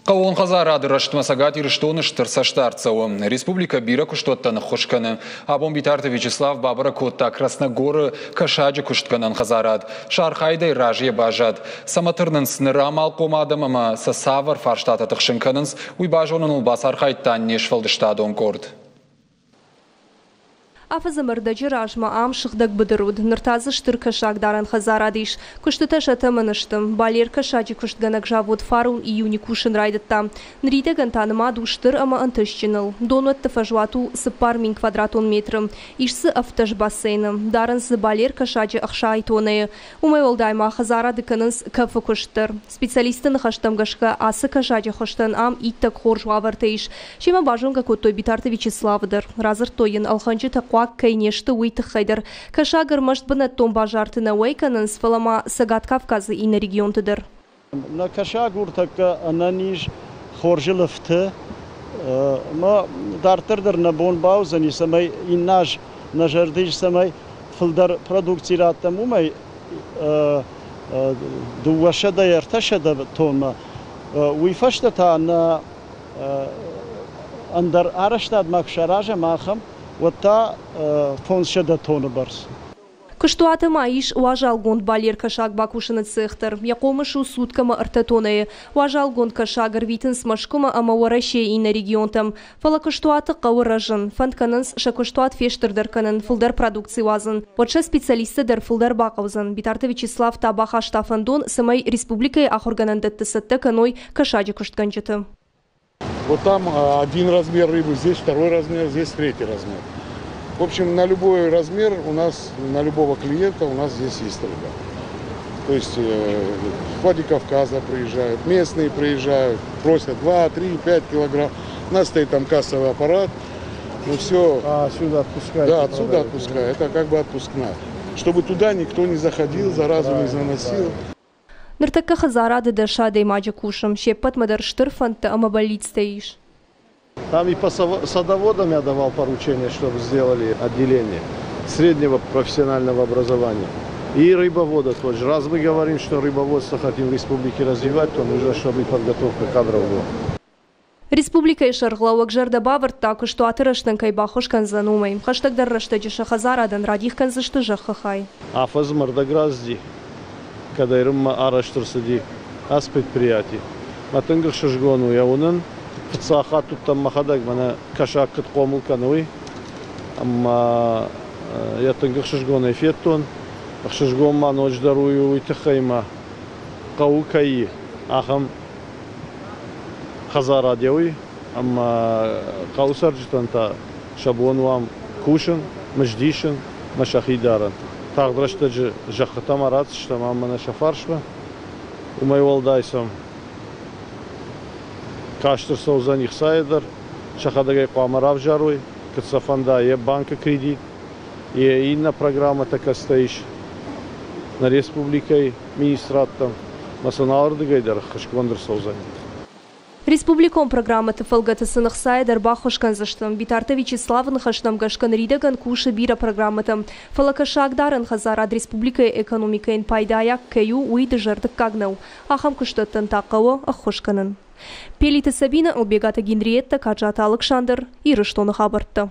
Хъӕууон хӕдзарады рӕзтмӕ Цӕгат Ирыстоны стыр цӕстдард цӕуы. Республикӕ бирӕ куыстуӕттӕн ӕххуыс кӕны. Абон Битарты Вячеслав бабӕрӕг кодта Красногоры кӕсаджы куыстгӕнӕн хӕдзарад. Сӕ архайдӕй разыйӕ баззад. Цӕмӕ тырнынц ныр амалхъом адӕм ӕмӕ сӕ цавӕр фарстатӕ тыхсын кӕнынц, уый базоныныл бацархайдта не сфӕлдыстадон къорд. Афӕдзы ӕрдӕджы размӕ ам сыгъдӕг быдыр уыд, ныр та дзы стыр кӕсагдарӕн хӕдзарад ис. Куыстытӕ сӕ тӕмӕны сты. Балер кӕсаджы куыстгӕнӕг завод фарон июны кусын райдыдта. Ныридӕгӕн та нымад у стыр ӕмӕ ӕнтыстджыныл. Донуӕтты фӕзуат у 4000 квадратон метры. Ис дзы 17 бассейны. Дарынц дзы балер кӕсаджы 60 тоннӕйы. Уымӕй уӕлдай ма хӕдзарады кӕнынц кӕфы куыст дӕр. Специалистты ныхӕстӕм гӕсгӕ, ацы кӕсаджы хуызтӕн ам иттӕг хорз уавӕртӕ ис. Семӕ базонгӕ кодтой Битарты Вячеславы дӕр. Радзырдтой йын, ӕлхӕнджытӕ хъуаг кӕй не сты, уый тыххӕй дӕр. Кӕсаг ӕрмӕст бынӕттон базарты нӕ уӕй кӕнынц, фӕлӕ ма Цӕгат Кавказы иннӕ регионты дӕр. Нӕ кӕсаг у тӕккӕ ӕнӕниз, хорзы лыфты. Ӕмӕ дарддӕр дӕр нӕ бон бауыдзӕни, цӕмӕй иннӕ аз нӕ зӕрды ис, цӕмӕй фылдӕр продукци раттӕм, уымӕй 200-300 тоннӕ. Уый фӕстӕ та нӕ ӕндӕр арӕзтадмӕ куы саразӕм ахӕм, уӕд та 500 тонны бӕрц. Куыстуаты ма ис уазалгонд балер кӕсаг бакусыны цех дӕр. Йӕ хъомыс у суткӕмӕ ӕртӕ тоннӕйы. Уазалгонд кӕсаг ӕрвитынц Мӕскуымӕ ӕмӕ Уӕрӕсейы иннӕ регионтӕм. Фӕлӕ куыстуаты хъӕуы рӕзын. Фӕнд кӕнынц сӕ куыстуат фестырдӕр кӕнын, фылдӕр продукци уадзын. Уӕд сӕ специалистты дӕр фылдӕр бахъӕудзӕн. Битарты Вячеслав та бахаста фӕндон, цӕмӕй республикӕйы ахуыргӕнӕндӕтты цӕттӕ кӕной кӕсаджы куыстгӕнджыты. Вот там один размер рыбы, здесь второй размер, здесь третий размер. В общем, на любой размер у нас, на любого клиента у нас здесь есть рыба. То есть с Владикавказа приезжают, местные приезжают, просят 2, 3, 5 килограмм. У нас стоит там кассовый аппарат. Ну все. А, отсюда отпускают? Да, отсюда отпускают. Это как бы отпускная. Чтобы туда никто не заходил, заразу не заносил. Ныртӕккӕ хӕдзарады 10 адӕймаджы кусы. Се ппӕтмӕ дӕр стыр фӕндтӕ ӕмӕ бӕллицтӕ ис. Там и по садоводам я давал поручение, чтобы сделали отделение среднего профессионального образования. И рыбовода тоже. Раз мы говорим, что рыбоводство хотим в республике развивать, то нужно, чтобы и подготовка кадров была. Республикӕйы сӕргълӕууӕг зӕрдӕ бавӕрдта, куыстуаты рӕзтӕн кӕй баххуыс кӕндзӕн, уымӕй. Хӕстӕгдӕр рӕстӕджы сӕ хӕдзарадӕн радих кӕндзысты зӕххы хай. Афӕдз ӕрдӕг рацыди, кӕдӕй рынмӕ арӕзт ӕрцыди ацы предприяти. Мӕ тынг ӕхсызгон у йӕ уынын. Фыццаг хатт уыдтӕн мӕхӕдӕг, мӕнӕ кӕсаг куыд хъомыл кӕны, уый. Ӕмӕ йӕ тынг ӕхсызгонӕй федтон. Ӕхсызгон ма ноджыдӕр уый у, уый тыххӕй ма хъӕуы кӕй ахӕм хӕдзарад уый, ӕмӕ хъӕуы цӕрджытӕн та сӕ бон у ам кусын, мызд исын ӕмӕ сӕхи дарын. Тагъд рӕстӕджы зӕххытӕм аратдзыстӕм ам мӕнӕ сӕ фарсмӕ. Уымӕй уӕлдай сӕм каст ӕрцӕудзӕни хцайӕ дӕр, сӕхӕдӕг ӕй хъуамӕ равзарой, куыд сӕ фӕнда йӕ банкы кредит, йӕ иннӕ программӕтӕ кӕцытӕ ис нӕ республикӕйы министрадтӕм, ӕмӕ сын алырдыгӕй дӕр ӕххуысгонд ӕрцӕудзӕни. Республикон программӕты фӕлгӕты сын ӕхцайӕ дӕр баххуыс кӕндзысты. Битарты Вячеславы ныхӕстӕм гӕсгӕ ныридӕгӕн кусы бирӕ программӕтӕ. Фӕлӕ кӕсагдарӕн хӕдзарад республикӕйы экономикӕйӕн пайдайаг кӕй у, уый дызӕрдыггаг нӕу. Ахӕм куыстуӕттӕн та хъӕуы ӕххуыс кӕнын. Пелиты Сабинӕ, Ӕлбегаты Генриеттӕ, Каджаты Алыксандр, Ирыстоны хабӕрттӕ.